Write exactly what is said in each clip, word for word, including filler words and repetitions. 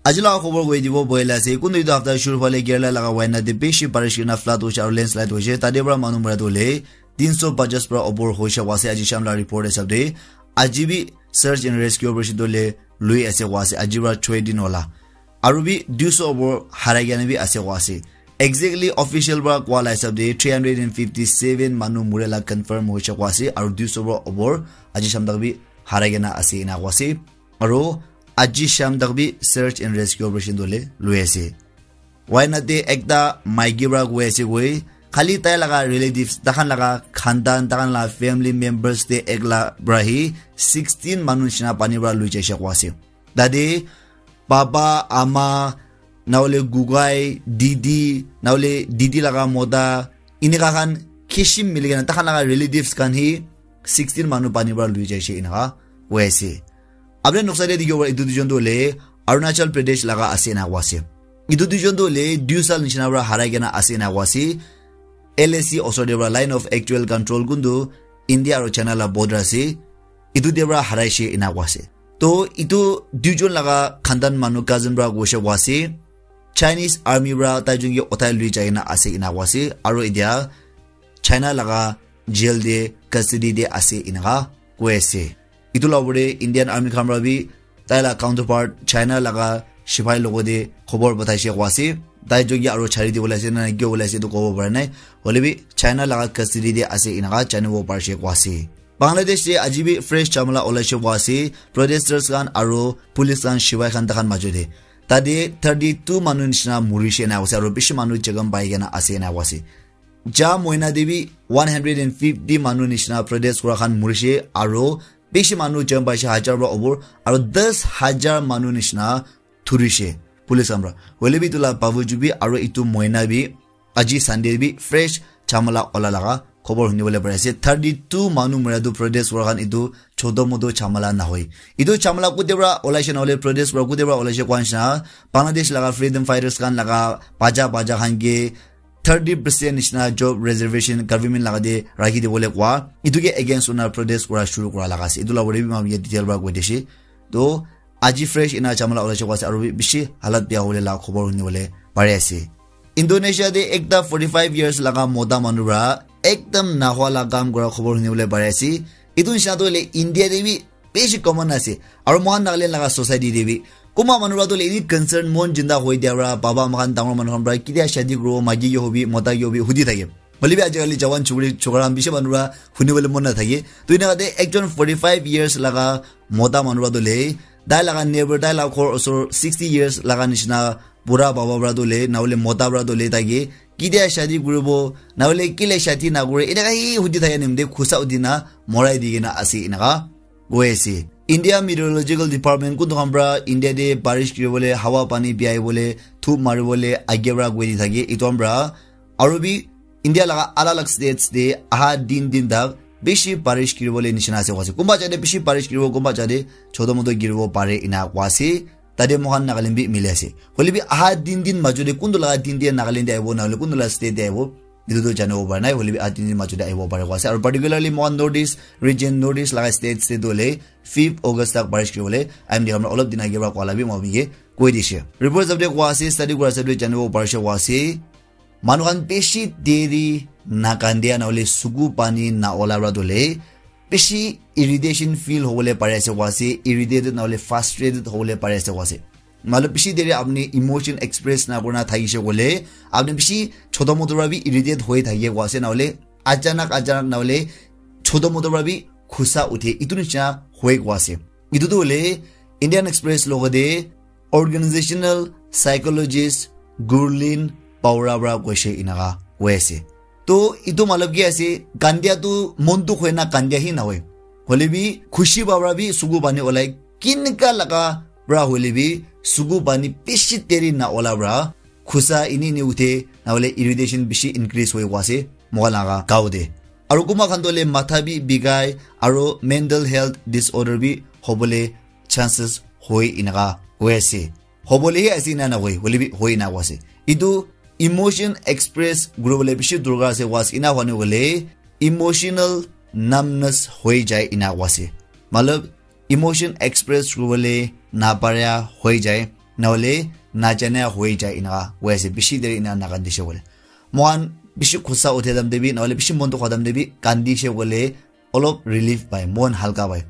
Aji laga khobor koi dibo boila ase, kuntu etu hafta shuru phale Kerala laga Wayanad te bishi barish kurina flood hoise aru landslide hoise, tate para manu mara tu hoile tin so pajas para opor hoise koa ase aji sham laga report hisab te. Aji bi search and rescue operation tu hoile lui ase koa ase, aji para choi din hola. Aru bi dui so opor harai kena bi ase koa ase. Exactly official para koa la hisab te three hundred and fifty seven manu mura la confirm hoise koa ase, aru dui so para opor aji sham tak bi harai kena ase ena koa ase. Aru aji sham tak bi search and rescue operation tu hoile lui ase. Wayanad te ekta maiki para koi ase koi, khali tai laga relatives, takhan laga khandan, takhan laga family members te ekla para hi sixteen manu nishina pani para lui jaise koa ase. Tate baba, ama, na hoile gugai, didi, na hoile didi laga mota, eneka khan kisim mili kena takhan laga relatives khan hi sixteen manu pani para lui jaise eneka koi ase. Apni noksa te dikhibo para etu duijon tu hoile Arunachal Pradesh laga ase ena koa ase. Etu duijon tu hoile dui sal nishina para harai kena ase ena koa ase. L A C osor te para line of actual control kuntu India aru China la border ase. Etu te para haraise ena koa ase. To etu duijon laga khandan manu cousin para koise koa ase. Chinese army para tai jun ke uthai lui jai na ase ena koa ase. Aru etia China laga jail te custody te ase eneka koi ase. Etu la opor te Indian army khan para bi tai la counterpart China laga sipai logot te khobor pathaise koa ase. Tai jun ke aru chari dibole ase na kiya bole ase etu kobo para nai. Hoile bi China laga custody te ase eneka janibo parise koa ase. Bangladesh te aji bi fresh jhamala olaise koa ase. Protesters khan aru police khan sipai khan takhan majo te. Tate thirty two manu nishina murise ena koa ase aru bishi manu jakham pai kena ase ena koa ase. Ja moina te bi one hundred and fifty manu nishina protest kura khan murise aru bishi manu jakham paise hajar para opor aru das hajar manu nishina thurise police khan para. Hoile bi etu la bawajud bi aru etu moina bi aji Sunday bi fresh jhamala ola laga khobor huni bole pari ase. Thirty two manu mura tu protest kura khan etu choto moto jhamala nahoi. Etu jhamala kote para olaise na hoile protest para kote para olaise koa nishina Bangladesh laga freedom fighters khan laga baja baja khan ke thirty percent nishina job reservation government laga te rakhi dibole koa. Etu ke against hona protest kura shuru kura laga ase. Etu la opor te bi moi detail para koi dise. To aji fresh ena jhamala olaise koa ase aru bi bishi halat bia hole la khobor huni bole pari ase. Indonesia te ekta forty five years laga mota manu para ekdam nahwa la kam kura khobor huni bole pari ase. Etu nishina tu hoile India te bi bishi common ase. Aru mohan Nagaland laga society te bi kunba manu para tu hoile ini concern mon jinda hoi dia para baba mohan dangor manu khan para ketia shadi kuribo, maiki ke hobi, mota ke hobi hudi thake. Hoile bi ajikali jawan chukri chokra khan bishi manu para huni bole mon nathake. To eneka te ekjon forty five years laga mota manu para tu hoile tai laga neighbor, tai laga ghor osor sixty years laga nishina bura baba para tu hoile na hoile mota para tu hoile tai ke ketia shadi kuribo, na hoile kile shadi nakore, eneka hi hudi thaka nimite khusa hudi na morai di kena ase eneka koi ase. India Meteorological Department kuntu khan para India te barish kuri bole, hawa pani biai bole, thup mari bole age para koi di thake. Etu khan para aru bi India laga alag alag states te aha din din tak bishi barish kuri bole nishina ase koi ase. Kunba jate bishi barish kuri bo, kunba jate choto moto giri bo pare ena koi ase. Tate mohan Nagaland bi mili ase. Hoile bi aha din din majo te kuntu laga din te Nagaland te ahibo na hoile kuntu laga state te ahibo, etu tu janibo para nai. Hoile bi aha din din majo te ahibo pare koi ase. Aru particularly mohan North East region, North East laga states te tu hoile fifth August tak barish kuri bole I M D khan para olop din age para koa la bi moi ke koi dise. Report hisab te koi ase, study kura hisab te janibo parise koi ase. Manu khan bishi deri na kandia na hoile suku pani na ola para tu hoile bishi irritation feel hobole pari ase koi ase, irritated na hoile frustrated hobole pari ase koi ase. Matlab bishi deri apni emotion express na kurina thakise koile apni bishi choto moto para bi irritate hoi thake koi ase, na hoile achanak achanak na hoile choto moto para bi khusa uthe, etu nishina hoi koi ase. Etu tu hoile Indian Express logote organizational psychologist Gurleen Paura para koise enaka koi ase. To etu matlab ki ase, kandia tu mon dukh hoi na kandia hi nahoi. Hoile bi khushi pa para bi suku pani olai, kineka laga para hoile bi suku pani bishi deri na ola para khusa ini ini uthe, na hoile irritation bishi increase hoi koi ase moikhan laga gao te. Aru kunba khan toh hoile matha bi bikai aru mental health disorder bi hobole chances hoi enaka hoi ase. Hobole hi ase ena nahoi, hoile bi hoi ena koi ase. Etu emotion express kuribole bishi dorkar ase, was ena hoine hoile emotional numbness hoi jai ena koi ase. Matlab emotion express kuribole naparia hoi jai. Nahole najane hoi jai ena koi ase. Bishi deri ena nakandishe koile. Mohan bishi khusa uthe dam de bi, nahole bishi mon dukha dam de bi, kandishe koile olop relief pai, mon halka pai.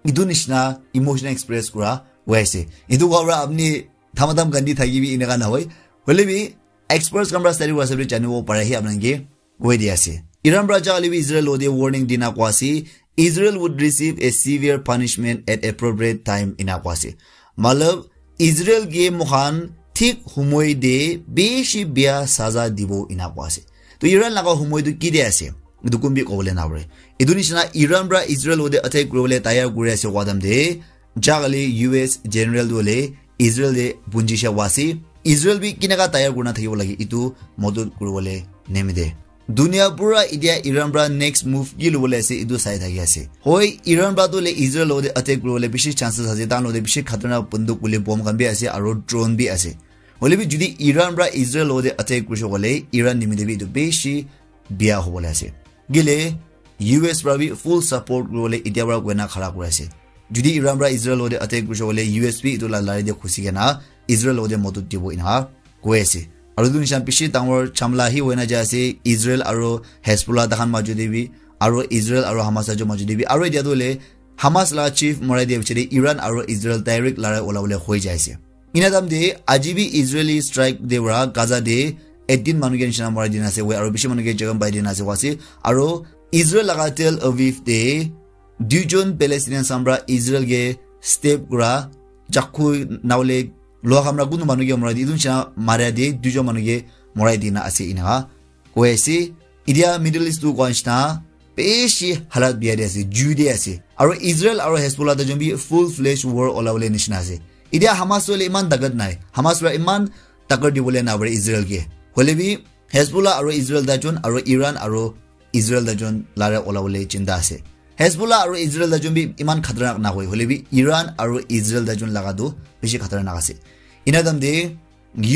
Etu nishina emotional express kura hoi ase. Etu kobra apni thamadam kandi thaki bi eneka nahoi. Hoile bi experts khan pra study kura ase bi janibo pare hi apnanke koi di ase. Iran pra ja hoile bi Israel lo de warning dina koi ase. Israel would receive a severe punishment at appropriate time ena koi ase. Matlab Israel ke moikhan thik humoi de bishi bia saza dibo ena koi ase. To Iran laga humoi tu ki de ase? Etu kun bi kobole na pare. Etu nishina Iran pra Israel lo de attack kuribole tayar kuri ase koi time de, ja kali U S general tu hoile Israel de punjishe koi ase. Israel bi kineka tayar kurina thakibo lage etu modot kuribole nimite. Dunia pura itia Iran pra next move ki lobole ase etu sai thaki ase. Hoi, Iran pra tu le Israel lo de attack kuribole bishi chances ase, tan lo de bishi khatarnak banduk kule bomb khan bi ase aro drone bi ase. Hoile bi jodi Iran pra Israel lo de attack kurishe koile Iran nimite bi etu bishi bia hobole ase. Kile U S pra bi full support kuribole itia pra koina khara kuri ase. Jodi Iran pra Israel lo de attack kurishe koile U S bi etu la lari de khusi kena Israel lo de modot dibo ena koi ase. Aro etu nishan bishi dangor chamla hi hoina jai ase Israel aro Hezbollah takhan majo de bi, aro Israel aro Hamas ajo majo de bi, aro itia tu le Hamas la chief morai dia bichari Iran aro Israel direct larai ola bole hoi jai ase. Ena time de aji bi Israeli strike de pra Gaza de eighteen manu ke nishina morai dina ase, aro bishi manu ke jakham pai dina ase koi ase. Aro Israel laga Tel Aviv de duijon Palestinian khan pra Israel ke stab kura, chakku nahole loha khan pra kunu manu ke morai di, etu nishina maria de duijon manu ke morai dina ase ena koi ase. Itia Middle East tu koi nishina bishi halat bia de ase, jui de ase. Aro Israel aro Hezbollah ta jombi full fledged war ola bole nishina ase. Itia Hamas tu hoile iman takat nai. Hamas pra iman takat dibole na pare Israel ke. Hoile bi Hezbollah aro Israel ta jon aro Iran aro Israel ta jon lare ola bole chinta ase. Hezbollah aro Israel ta jon bi iman khatarnak na hoi. Hoile bi Iran aro Israel ta jon laga tu bishi khatarnak ase. Ena time de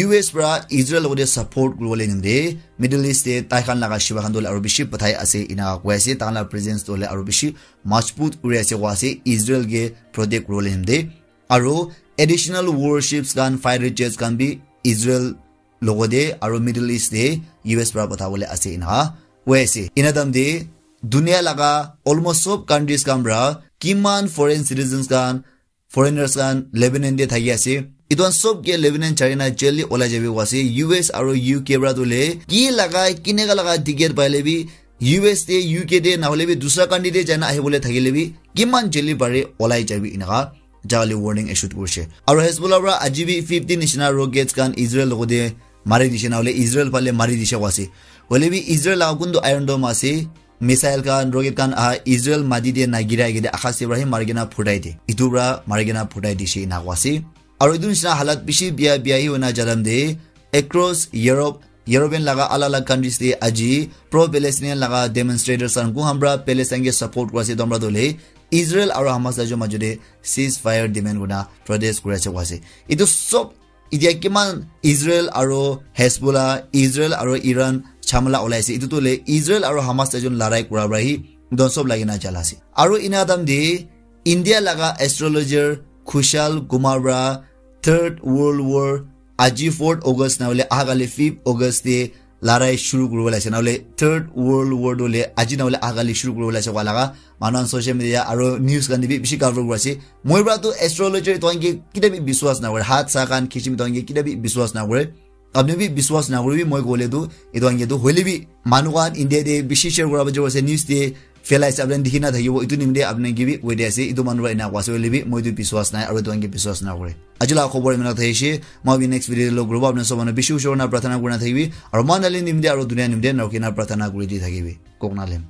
U S pra Israel lo de support kuribole nimite Middle East de tai khan laga shiba khan tu le aro bishi pathai ase ena koi ase. Tai khan la presence tu le aro bishi majbut kuri ase koi ase Israel ke protect kuribole nimite. Aro additional warships khan, fighter jets khan bi Israel logo de aro Middle East de U S pra patha bole ase ena koi ase. Ena time de dunia laga almost sob countries khan pra kiman foreign citizens khan, foreigners khan Lebanon de thaki ase. Etu khan sob ke Lebanon chari na jail de olai jabi koi ase. U S aro U K pra tu le ki laga, kineka laga ticket paile bi U S de, U K de, nahole bi dusra country de jaina ahibole thakile bi kiman jail de pare olai jabi ena ka ja kali warning issue kurishe. Aro Hezbollah pra aji bi fifteen nishina rockets khan Israel logo de mari dishe, nahole Israel phale mari dishe koi ase. Hoile bi Israel laga kuntu Iron Dome ase, missile khan, rocket khan aha Israel mati de na girai kede akas de pra hi mari kena phutai de. Etu pra mari kena phutai dishe ena koi ase. Aro etu nishina halat bishi bia bia hi hoina ja time de across Europe, European laga alak alak countries de aji pro Palestinian laga demonstrators khan kun khan pra Palestine ke support kuri ase etu khan pra tu hoile Israel aro Hamas la jo majo de ceasefire demand kurina protest kuri ase koi ase. Etu sob itia kiman Israel aro Hezbollah, Israel aro Iran chamala olai ase. Etu tu hoile Israel aro Hamas ta jon larai kura pra hi etu khan sob lagi na jala ase. Aro ena time de India laga astrologer Kushal Kumar pra Third World War aji fourth August nahole aha kali fifth August de larai shuru kuribole ase, nahole Third World War tu hoile aji nahole aha kali shuru kuribole ase koi laga manu khan social media aro news khan de bi bishi cover kuri ase. Moi pra tu astrologer etu khan ke kita bi biswas na kore, hat sa khan khichim etu khan ke kita bi biswas na kore. Apni bi biswas na kore bi, moi kole tu etu khan ke tu hoile bi manu khan India de bishi share kura bajo ase, news de phelai ase, apni dikhi na thakibo, etu nimite apni ke bi koi di ase, etu manu para ena koi ase hoile bi moi tu biswas nai aro etu khan ke biswas na kore. Aji la khobor imana thai ase, moi bi next video de log kuribo, apni sob manu bishi ushor na prarthana kurina thakibi, aro moi nali nimite aro dunia nimite na rukhi na prarthana kuri di thakibi. Kok na lem.